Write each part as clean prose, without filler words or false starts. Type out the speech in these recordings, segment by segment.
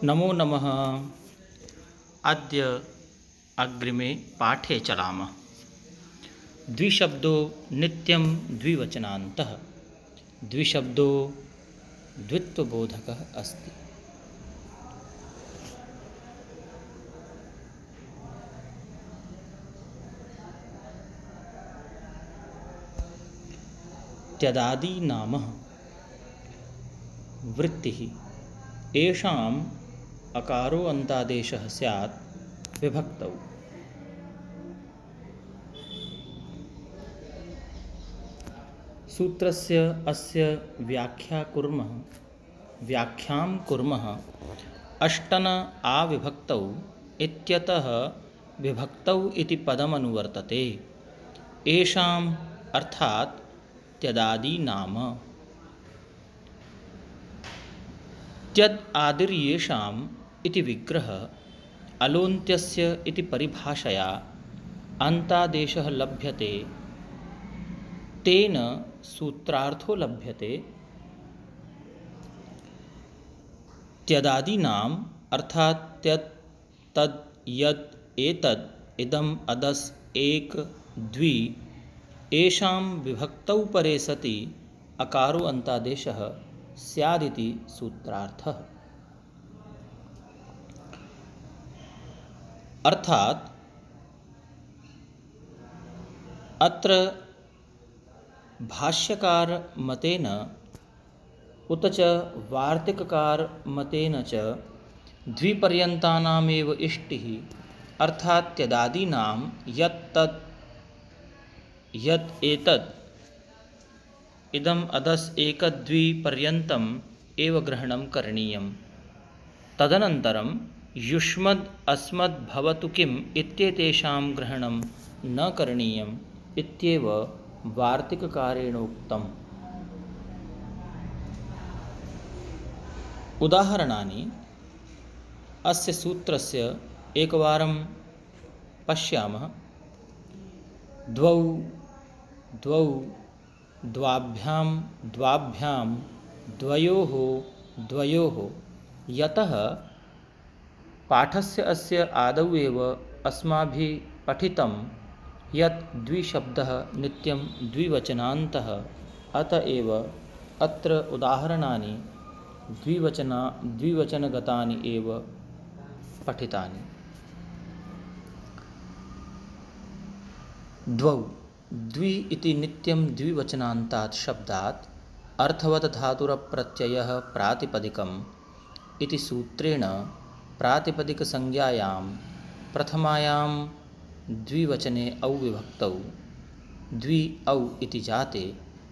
नमो नमः। अद्य अग्रिमे पाठे चलामः। द्विशब्दो नित्यं द्विवचनान्तः। द्विशब्दो द्वित्वबोधकः अस्ति। त्यदादि नाम वृत्तिः येषाम् अकारो अन्तादेशः स्यात् विभक्तौ। सूत्रस्य अस्य व्याख्यां कुर्मः। अष्टन आविभक्तौ इत्यतः विभक्तौ इति पदमनुवर्तते। येषाम् अर्थात् त्यदादि नाम। त्यद् आदिर्येषाम् इति विग्रह अलोन्त्यस्य इति परिभाषया अन्तादेशः लभ्यते, तेन सूत्रार्थो लभ्यते। त्यदादीनाम् अर्थात् त्यत् तद् यत् एतद् इदम् अदस् एक द्वि येषां विभक्तौ परे सति अकारो अन्तादेशः स्यादिति सूत्रार्थः। अर्थात् अत्र भाष्यकार मतेन उत च वार्तिककार मतेन च द्विपर्यन्तानामेव इष्टिः अर्थात् त्यदादीनां यत् तत् यत् एतत् इदम् अदस् एक द्वि पर्यन्तम् एव ग्रहणं करणीयम्। तदनन्तरं युष्मद् अस्मद् भवतु किम् इत्येतेषां ग्रहणं न करणीयम् इत्येव वार्तिककारेण उक्तम्। उदाहरणानि अस्य सूत्रस्य एकवारं पश्यामः। द्वौ द्वौ द्वाभ्यां द्वाभ्यां द्वयोः द्वयोः। यतः पाठस्य अस्य आदौ एव अस्माभिः पठितं यत् द्विशब्दः नित्यं द्विवचनान्तः, अत एव अत्र उदाहरणानि द्विवचनगतानि एव पठितानि। द्वौ द्वि इति नित्यं द्विवचनान्तात् शब्दात् अर्थवत् धातुरप्रत्ययः प्रातिपदिकम् इति सूत्रेण प्रातिपदिकसंज्ञायां प्रथमायां द्विवचने औ विभक्तौ द्वि औ इति जाते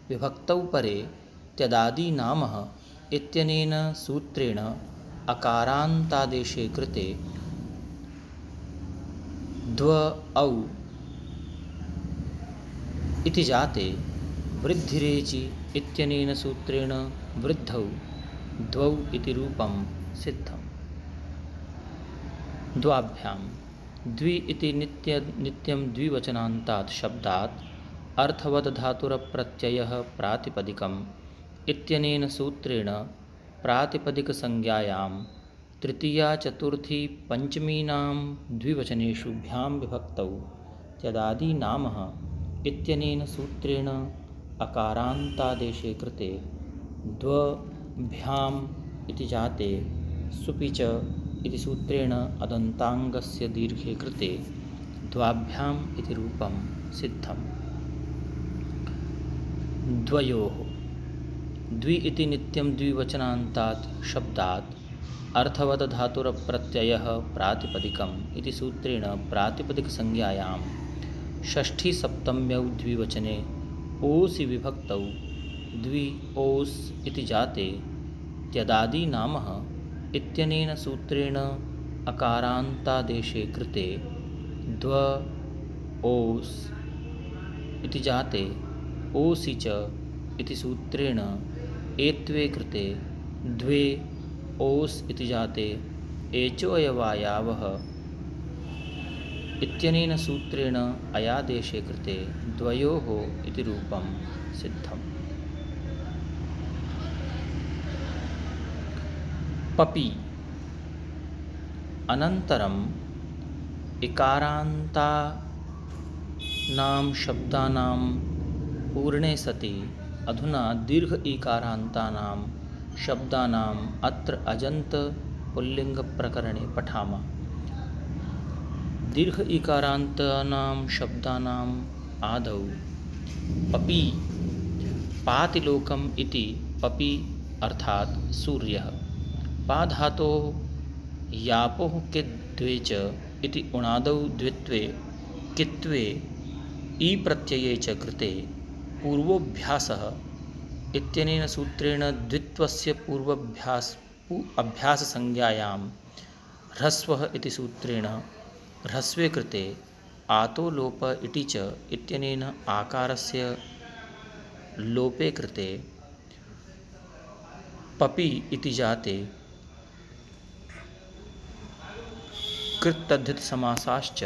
विभक्तौ परे त्यदादि नाम इत्यनेन सूत्रेण अकारान्तादेशे कृते द्व औ इति जाते वृद्धिरेचि इत्यनेन सूत्रेण वृद्धौ द्वौ इति रूपं सिद्धम्। द्वाभ्यां द्वि इति नित्यं द्विवचनान्तात् शब्दात् अर्थवत् धातुरप्रत्ययः प्रातिपदिकम् इत्यनेन सूत्रेण प्रातिपदिकसंज्ञायां तृतीया चतुर्थी पंचमीनां द्विवचनेषु भ्यां विभक्तौ त्यदादि नाम इत्यनेन सूत्रेण अकारान्तादेशे कृते द्वभ्याम् इति जाते सुपि च इति सूत्रेण अदन्ताङ्गस्य दीर्घे कृते द्वाभ्याम् इति रूपं सिद्धम्। द्वयोः द्वि इति नित्यं द्विवचनान्तात् शब्दात् अर्थवत् धातुरप्रत्ययः प्रातिपदिकम् इति सूत्रेण प्रातिपदिकसंज्ञायां षष्ठी सप्तम्यौ द्विवचने ओसि विभक्तौ द्वि ओस् इति जाते त्यदादि नाम इत्यनेन सूत्रेण अकारान्तादेशे कृते द्व ओस् इति जाते ओसि च इति सूत्रेण एत्वे कृते द्वे ओस् इति जाते एचोऽयवायावः इत्यनेन सूत्रेण अयादेशे कृते द्वयोः इति रूपं सिद्धम्। पपी अनन्तरम् इकारान्तानां शब्दानां पूर्णे सति अधुना दीर्घ इकारान्तानां शब्दानाम् अत्र अजन्त पुल्लिङ्गप्रकरणे पठामः। दीर्घ इकारान्तानां शब्दानाम् आदौ पपि पातिलोकम् इति पपि अर्थात् सूर्यः, पाधातोः यापोः किद्वे च इति उणादौ द्वित्वे कित्वे ई प्रत्यये च कृते पूर्वोऽभ्यासः इत्यनेन सूत्रेण द्वित्वस्य अभ्याससंज्ञायां ह्रस्वः इति सूत्रेण ह्रस्वे कृते आतो लोप इति च इत्यनेन आकारस्य लोपे कृते पपि इति जाते कृत्तद्धितसमासाश्च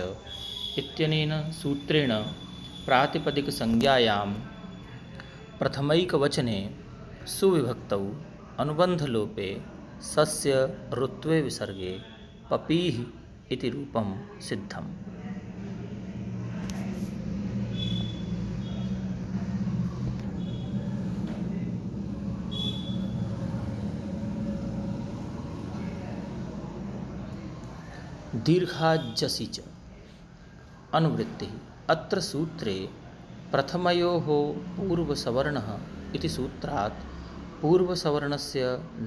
इत्यनेन सूत्रेण प्रातिपदिकसंज्ञायां प्रथमैकवचने सुविभक्तौ अनुबन्धलोपे सस्य ऋत्वे विसर्गे पपीः इति रूपं सिद्धम्। दीर्घाजसि च अनुवृत्तिः। अत्र सूत्रे प्रथमयोः पूर्वसवर्णः इति सूत्रात् पूर्वसवर्णस्य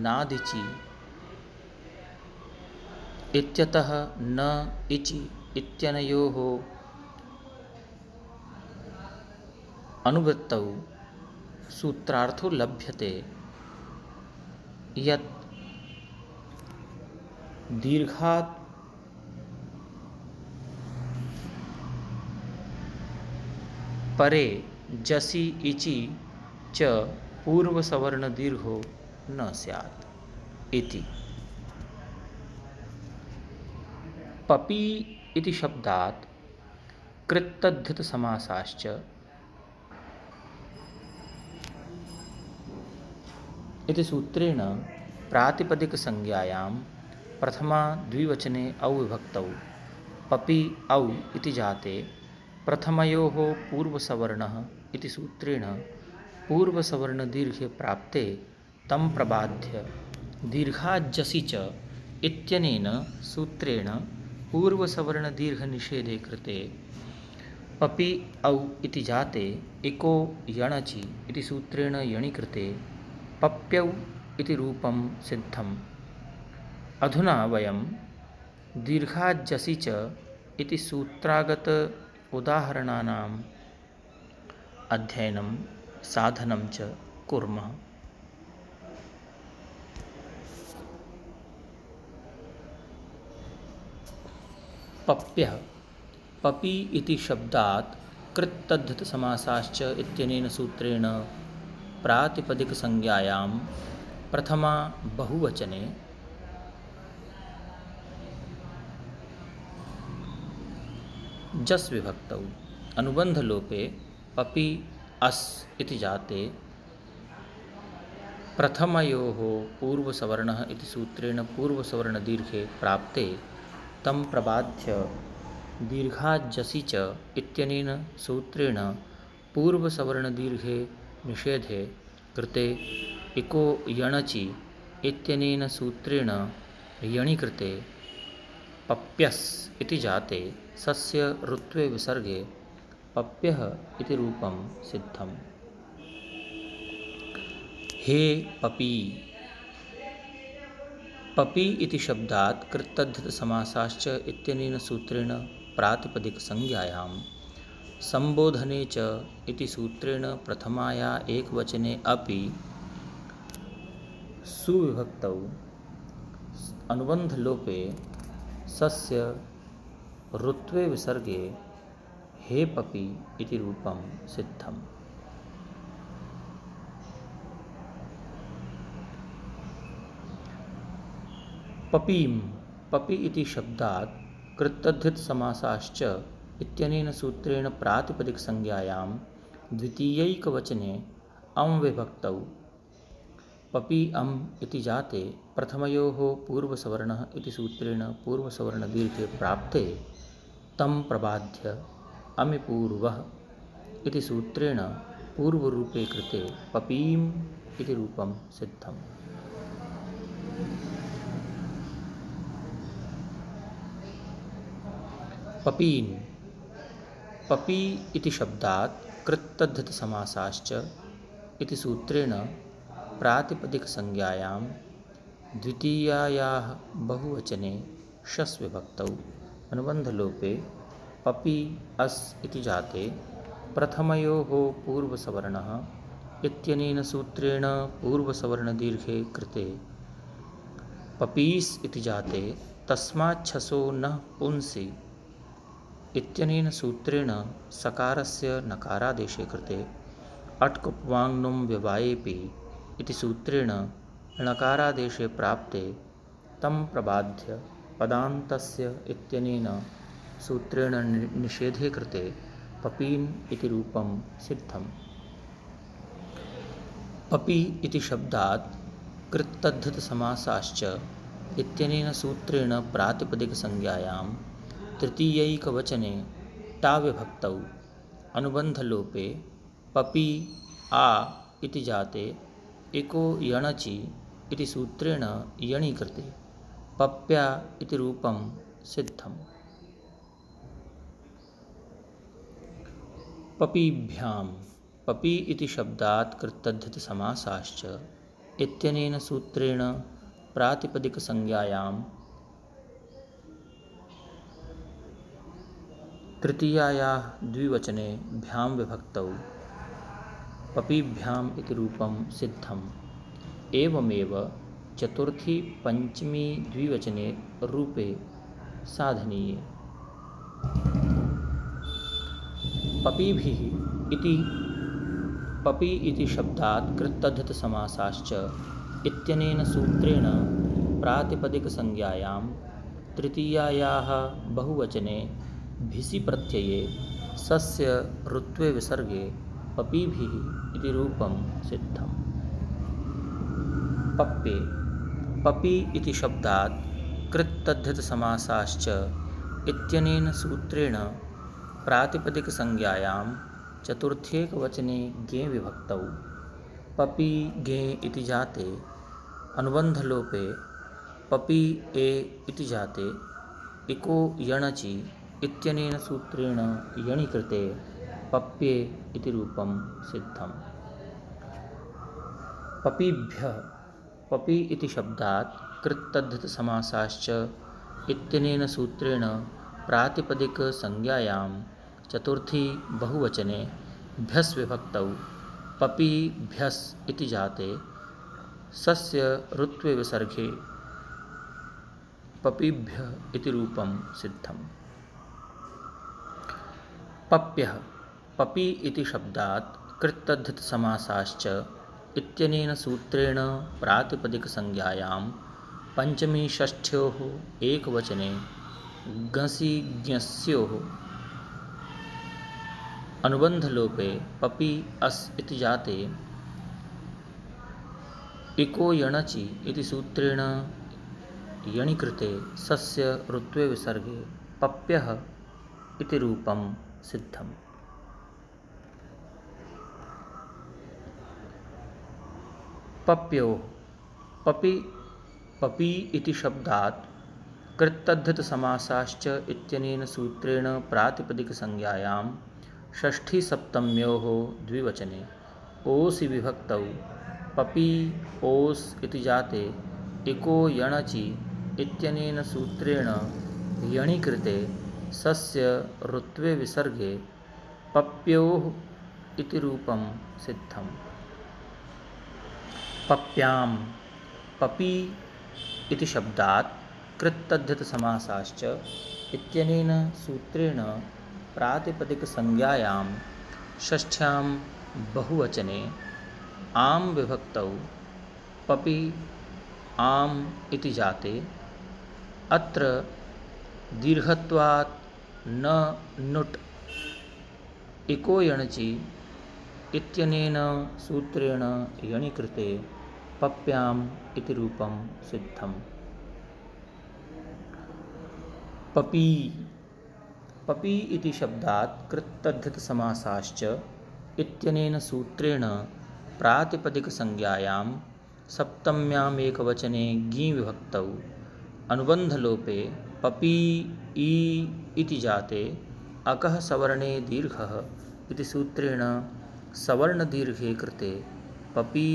नादिचि इत्यतः न इचि इत्यनयोः अनुवृत्तौ सूत्रार्थो लभ्यते यत् दीर्घात् परे जसि इचि च पूर्वसवर्णदीर्घो न स्यात् इति। पपि इति शब्दात् कृत्तद्धितसमासाश्च इति सूत्रेण प्रातिपदिकसंज्ञायां प्रथमा द्विवचने औ विभक्तौ पपि औ इति जाते प्रथमयोः पूर्वसवर्णः इति सूत्रेण पूर्वसवर्णदीर्घे प्राप्ते तं प्रबाध्य दीर्घाजसि च इत्यनेन सूत्रेण पूर्वसवर्णदीर्घनिषेधे कृते पपि औ इति जाते इको यणचि इति सूत्रेण यणि कृते पप्यौ इति रूपं सिद्धम्। अधुना वयं दीर्घाजसि च इति सूत्रागत उदाहरणानाम् अध्ययनं साधनं च कुर्मः। पप्यः पपि इति शब्दात् कृत्तद्धितसमासाश्च इत्यनेन सूत्रेण प्रातिपदिकसंज्ञायां प्रथमा बहुवचने जस् विभक्तौ अनुबन्धलोपे पपि अस् इति जाते प्रथमयोः पूर्वसवर्णः इति सूत्रेण पूर्वसवर्णदीर्घे प्राप्ते तं प्रबाध्य दीर्घाजसि च इत्यनेन सूत्रेण पूर्वसवर्णदीर्घे निषेधे कृते इको यणचि इत्यनेन सूत्रेण यणि कृते पप्यस् इति जाते सस्य ऋत्वे विसर्गे पप्यः इति रूपं सिद्धम्। हे पपि पपि इति शब्दात् कृत्तद्धितसमासाश्च इत्यनेन सूत्रेण प्रातिपदिकसंज्ञायां संबोधने च इति सूत्रेण प्रथमाया एकवचने अपि सुविभक्तौ अनुबन्धलोपे सस्य ऋत्वे विसर्गे हे पपि इति रूपं सिद्धम्। पपीं पपि इति शब्दात् कृत्तद्धितसमासाश्च इत्यनेन सूत्रेण प्रातिपदिकसंज्ञायां द्वितीयैकवचने अं विभक्तौ पपि अम् इति जाते प्रथमयोः पूर्वसवर्णः इति सूत्रेण पूर्वसवर्णदीर्घे प्राप्ते तं प्रबाध्य अमि पूर्वः इति सूत्रेण पूर्वरूपे कृते पपीम् इति रूपं सिद्धम्। पपीन् पपी इति शब्दात् कृत्तद्धितसमासाश्च इति सूत्रेण प्रातिपदिकसंज्ञायां द्वितीयायाः बहुवचने शस् विभक्तौ अनुबन्धलोपे पपि अस् इति जाते प्रथमयोः पूर्वसवर्णः इत्यनेन सूत्रेण पूर्वसवर्णदीर्घे कृते पपीस् इति जाते तस्माच्छसो नः पुंसि इत्यनेन सूत्रेण सकारस्य नकारादेशे कृते अट्कुप्वाङ्नुं व्यवायेपि इति सूत्रेण णकारादेशे प्राप्ते तं प्रबाध्य पदान्तस्य इत्यनेन सूत्रेण निषेधे कृते पपीन् इति रूपं सिद्धम्। पपि इति शब्दात् कृत्तद्धितसमासाश्च इत्यनेन सूत्रेण प्रातिपदिकसंज्ञायां तृतीयैकवचने टाविभक्तौ अनुबन्धलोपे पपि आ इति जाते इको यणचि इति सूत्रेण यणीकृते पप्या इति रूपं सिद्धम्। पपीभ्यां पपि इति शब्दात् कृत्तद्धितसमासाश्च इत्यनेन सूत्रेण प्रातिपदिकसंज्ञायां तृतीयायाः द्विवचने भ्यां विभक्तौ पपीभ्याम् इति रूपं सिद्धम्। एवमेव चतुर्थी पंचमी द्विवचने रूपे साधनीये। पपीभिः इति पपि इति शब्दात् कृत्तद्धितसमासाश्च इत्यनेन सूत्रेण प्रातिपदिकसंज्ञायां तृतीयायाः बहुवचने भिसि प्रत्यये सस्य ऋत्वे विसर्गे पपीभिः इति रूपं सिद्धम्। पप्ये पपि इति शब्दात् कृत्तद्धितसमासाश्च इत्यनेन सूत्रेण प्रातिपदिकसंज्ञायां चतुर्थेकवचने गे विभक्तौ पपि गे इति जाते अनुबन्धलोपे पपि ए इति जाते इको यणचि इत्यनेन सूत्रेण यणीकृते पप्ये इति रूपं सिद्धम्। पपीभ्यः पपि इति शब्दात् कृत्तद्धितसमासाश्च इत्यनेन सूत्रेण प्रातिपदिकसंज्ञायां चतुर्थी बहुवचने भ्यस् विभक्तौ पपीभ्यस् इति जाते सस्य ऋत्वे विसर्गे पपीभ्यः इति रूपं सिद्धम्। पप्यः पपि इति शब्दात् कृत्तद्धितसमासाश्च इत्यनेन सूत्रेण प्रातिपदिकसंज्ञायां पंचमी षष्ठ्योः एकवचने गसि ज्ञस्योः अनुबन्धलोपे पपि अस् इति जाते इको यणचि इति सूत्रेण यणीकृते सस्य ऋत्वे विसर्गे पप्यः इति रूपं सिद्धम्। पप्योः पपि इति शब्दात् कृत्तद्धितसमासाश्च इत्यनेन सूत्रेण प्रातिपदिकसंज्ञायां षष्ठीसप्तम्योः द्विवचने ओसि विभक्तौ पपि ओस् इति जाते इको यणचि इत्यनेन सूत्रेण यणीकृते सस्य ऋत्वे विसर्गे पप्योः इति रूपं सिद्धम्। पप्यां पपि इति शब्दात् कृत्तद्धितसमासाश्च इत्यनेन सूत्रेण प्रातिपदिकसंज्ञायां षष्ठ्यां बहुवचने आं विभक्तौ पपि आम् इति जाते अत्र दीर्घत्वात् न नुट् इको यणचि इत्यनेन सूत्रेण यणीकृते पप्याम् इति रूपं सिद्धम्। पपी पपी इति शब्दात् कृत्तद्धितसमासाश्च इत्यनेन सूत्रेण प्रातिपदिकसंज्ञायां सप्तम्याम् एकवचने ङी विभक्तौ अनुबन्धलोपे पपी ई इति जाते अकः सवर्णे दीर्घः इति सूत्रेण सवर्णदीर्घे कृते पपी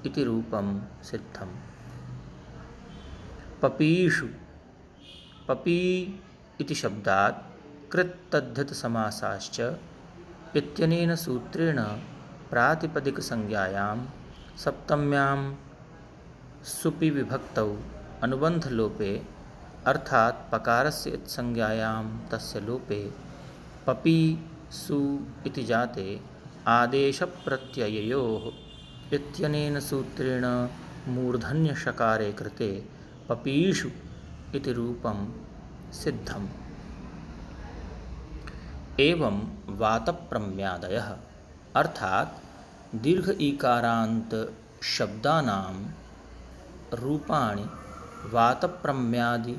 इति रूपं सिद्धम्। पपीषु पपी इति शब्दात् कृत्तद्धितसमासाश्च इत्यनेन सूत्रेण प्रातिपदिकसंज्ञायां सप्तम्यां सुपि विभक्तौ अनुबन्धलोपे अर्थात् पकारस्य इत्संज्ञायां तस्य लोपे पपी सु इति जाते आदेशप्रत्यययोः इत्यनेन सूत्रेण मूर्धन्यषकारे कृते पपीषु इति रूपं सिद्धम्। एवं वातप्रम्यादयः अर्थात् दीर्घ ईकारान्त शब्दानां रूपाणि वातप्रम्यादि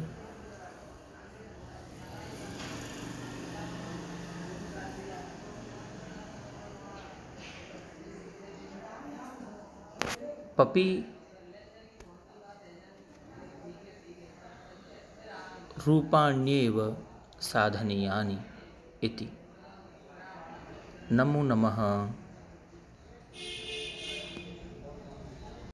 पपी रूपाण्येव साधनीयानि इति। नमो नमः।